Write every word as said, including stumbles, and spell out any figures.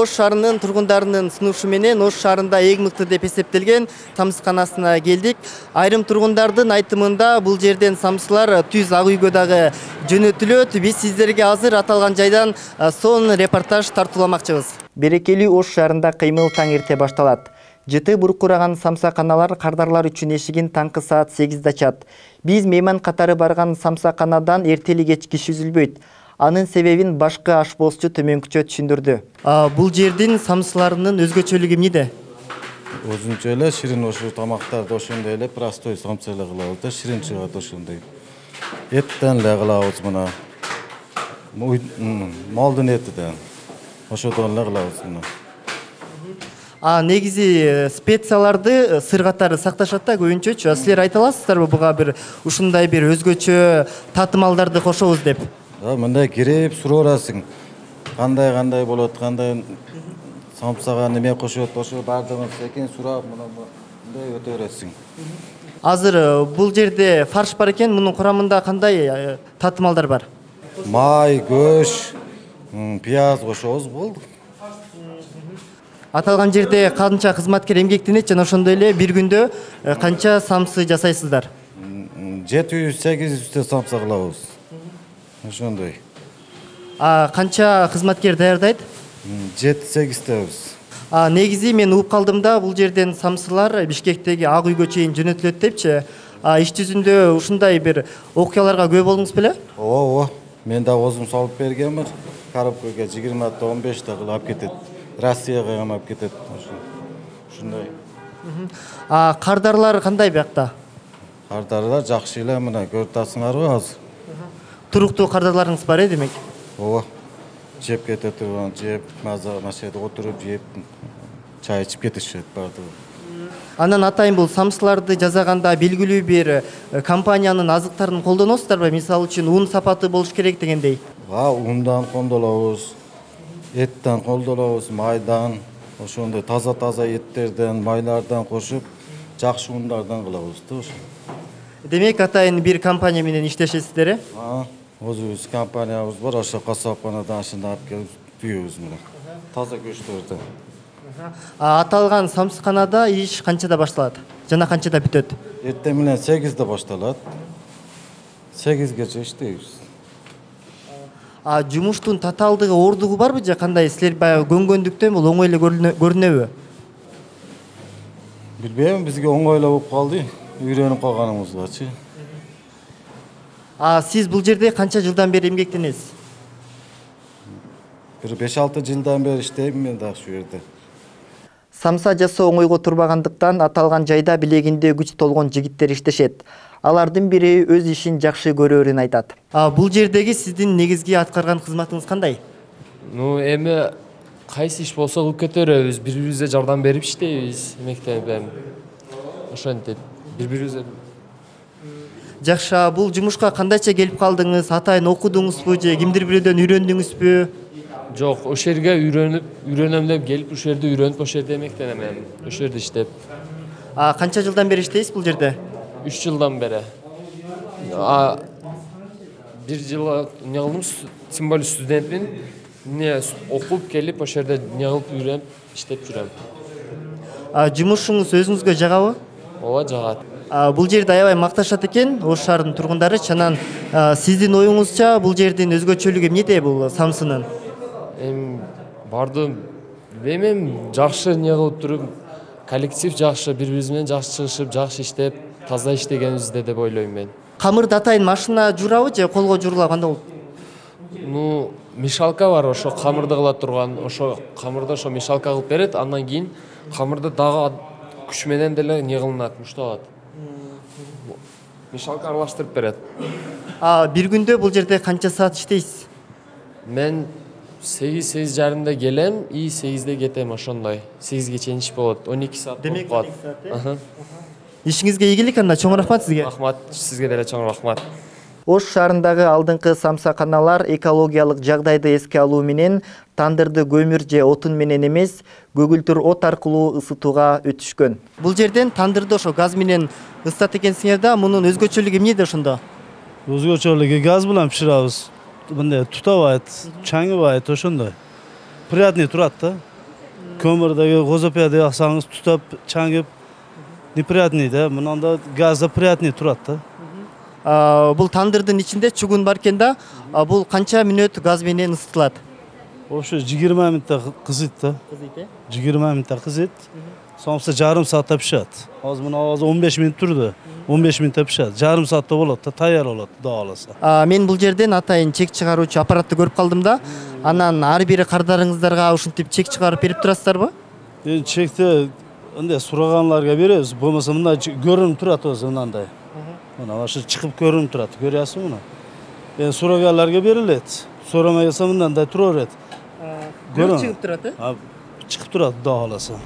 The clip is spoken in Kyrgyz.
Ош шаарынын тургундарынын сунушу менен Ош шаарында эң мыкты деп эсептелген самсыканасына келдик. Айрым тургундардын айтымында бул жерден самсылар түз ак үйгө дагы жөнөтүлөт. Биз сиздерге азыр аталган жайдан сонун репортаж тартууламакчыбыз. Берекелүү Ош шаарында кыймыл таң эрте башталат. Жыты буркураган самсаканалар кардарлар үчүн эшигин таңкы саат сегизде ачат. Биз мейман катары барган самсаканадан эртели кеч киши үзүлбөйт. Анын себебин башкы ашбозчу төмөнкүчө түшүндүрдү. Бул жердин самсыларынын өзгөчөлүгү эмнеде? Өзүнчө эле ширин ошо тамактарды ошондой эле простой самса эле кылабыз да, ширин чыгат ошондой. Эттен эле кылабыз мына. Малдын этиден. Ошодон эле кылабыз мына. А негизи специяларды сыр катары сакташат да көбүнчөчү. Силер айта аласыздарбы буга бир ушундай бир өзгөчө татымалдарды кошобуз деп? Да, мындай кирип суроо берасың. Кандай кандай болот, кандай самсага неме кошот, ошо бардыгын секин сурап, мындай өтө бересиң. Азыр бул жерде фарш бар экен, мунун курамында кандай татымалдар бар? Май, көш, пияз кошобуз, болду. Аталган жерде канча кызматкер эмгектенет жана ошондой эле бир күндө канча самсы жасайсыздар? жети жүз сегиз жүзтө самса кылабыз. Ошондой. А канча кызматкер даярдайт? жети сегизтебиз. А негизи мен угуп калдым да, бул жерден самсылар Бишкектеги ак үйгө чейин жөнөтүлөт депчи. А иш жүзүндө ушундай бир окуяларга күбө болдуңуз беле? Ооба, ооба. Мен да өзүм салып бергенмин. Коробкага жыйырмата он беште кылып алып кетет. Россияга ham алып кетет. Ушундай. А кардарлар кандай биякта? Кардарлар жакшы эле, мына көрүп атасыңарбы азыр? Туруктуу кардарларыңыз бар э, демек? Ооба. Жеп кете турган, жеп, маза машинада отуруп жеп, чай ичип кетишет бардыгы. Анан атайын бул самсыларды жасаганда белгилүү бир компаниянын азыктарын колдоносуздарбы? Мисалы үчүн ун сапаты болуш керек дегендей. Ва, ундан колдонобуз. Эттен колдонобуз, майдан, ошондой таза-таза эттерден, майлардан кошуп, жакшы ундардан кылабыз да ошо. Демек атайын бир компания менен иштешесиздер э? А, өзүбүз компаниябыз бар, ошо касапканадан ашында алып келип түйөбүз мына. Таза көчтөрдөн. А аталган самсыканада иш канчада башталат? Жана канчада бүтөт? Эртең менен сегизде башталат. сегизгече иштейбиз. А жумуштун татаалдыгы, ордугу барбы же кандай? Силер баягы көнгөндүктөн бул оңой эле көрүнөбү? Билбейм, бизге оңой эле болуп калды, үйрөнүп калганыбызгачы. А сиз бул жерде канча жылдан бери эмгектенесиз? Бир беш алты жылдан бери иштейм мен дагы ушул жерде. Самса жасоо оңойго турбагандыктан аталган жайда билегинде күч толгон жигиттер иштешет. Алардын бири өз ишин жакшы көрөөрүн айтат. А бул жердеги сиздин негизги аткарган кызматыңыз кандай? Ну, эми кайсы иш болсо кылып кетеребиз, бири-бирибизге жардам берип иштейбиз, эмектенип. Ошентип, бири-бирибизге. Жакшы, бул жумушка кандайча келип калдыңыз? Атайын окудуңузбу же кимдир бирөөдөн үйрөндүңүзбү? Жок, ошол жерге үйрөнүп, үйрөнөм деп келип, ошол жерде үйрөнүп, ошол жерде эмектенем, ошол жерде иштеп. А канча жылдан бери иштейсиз бул жерде? үч жылдан бери. А бир жыл не кылдым, тем более студентмин. Не окуп келип, ошол жерде не кылып үйрөнүп, иштеп жүрөм. А жумушуңуз өзүңүзгө жагабы? Ооба, жагат. А бул жерди аябай макташат экен Ош шаарынын тургундары. Чанан сиздин оюңузча бул жердин өзгөчөлүгү эмнеде бул самсынын? Эми бардым, билбейм, жакшы не кылып туруп, коллектив жакшы, бири-бирибиз менен жакшы чыгышып, жакшы иштеп, таза иштегенибизде деп ойлойм мен. Камырды атайын машина жуурабы же колго жуурула, кандай болот? Ну, мешалка бар, ошо камырды кыла турган, ошо камырды ошо мешалка кылып берет, андан кийин камырды дагы күч менен деле не кылынат, мушталат. Мешалка аралаштырып берет. А бир күндө бул жерде канча саат иштейсиз? Мен сегиз сегиз жарымда келем, и сегизде кетем, ошондой. сегизге чейин иш болот, он эки саат болуп калат. Демек ишиңизге ийгилик, анда чоң рахмат сизге. Рахмат, сизге деле чоң рахмат. Ош шаарындагы алдыңкы самсаканалар экологиялык жагдайды эске алуу менен тандырды көмүр же отун менен эмес, көгүлтүр от аркылуу ысытууга өтүшкөн. Бул жерден тандырды ошо газ менен ысытат экенсиңер да, мунун өзгөчөлүгү эмнеде ошондо? Өзгөчөлүгү газ менен пиширабыз. Мындай тутабайт, чаңыбайт, ошондой. Приятный турат да. көмірдегі козопияда яксаңыз тутап чаңып неприятный да. Мынанда газда приятный турат да. А, бул тандырдын ичинде чугун бар экен да. А, бул канча мүнөт газ менен ысытылат? Ошо жыйырма мүнөттө кызыйт да. Кызыйт э? жыйырма мүнөттө кызыйт. Сонса жарым саатта пишат. Азыр мына азыр он беш мүнөт турду. он беш мүнөттө пишат. Жарым саатта болот да, таяр болот, Кудай кааласа. А, мен бул жерден атайын чек чыгаруучу аппаратты көрүп калдым да. Анан ар бир кардарыңыздарга ушинтип чек чыгарып берип турасыздарбы? Эми чекти ындай сураганларга беребиз. Болмосо мына көрүнүп турат өзү мындай. Мына ошо чыгып көрүнүп турат. Көрөсүңбү муну? Эми сураганларга берилет. Сурамай келсе мындай тура берет. Көрүнүп чыгып турат э? Чыгып турат, Кудай кааласа.